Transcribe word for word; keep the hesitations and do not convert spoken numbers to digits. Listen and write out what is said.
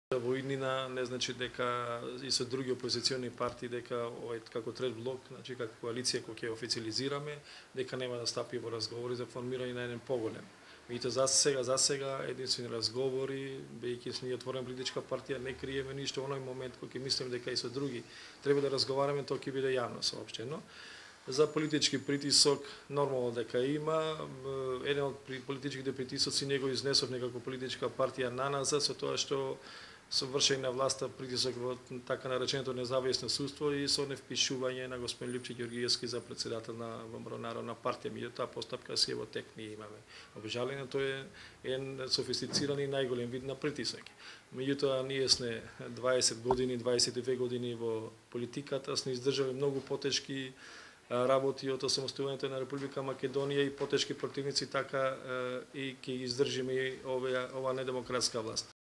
Во иднина не значи дека и со други опозициони партии дека овој како трет блок, значи како коалиција која ќе официализираме, дека нема да стапи во разговори за формирање на еден поголем. Меѓутоа за сега за сега единствени разговори, бејќи сме отворена политичка партија, не криеме ништо. Оној момент кога ќе мислиме дека и со други треба да разговараме, тоа ќе биде јавно соопштено. За политички притисок нормално дека има. Еден од политичките притисоци него изнесов некако политичка партија на нас со тоа што со вршење на власта притисок во така нареченото независно судство и со невпишување на господин Липче Ѓоргиевски за председател на Народна партија. Меѓутоа постапка си е во тек, ние имаме. Обжалено тоа е еден софистициран и најголем вид на притисок. Меѓутоа ние сме дваесет години, дваесет и две години во политиката, сме издржале многу потешки работи од осамостојувањето на Република Македонија и потешки противници, така и ќе издржиме ова ова недемократска власт.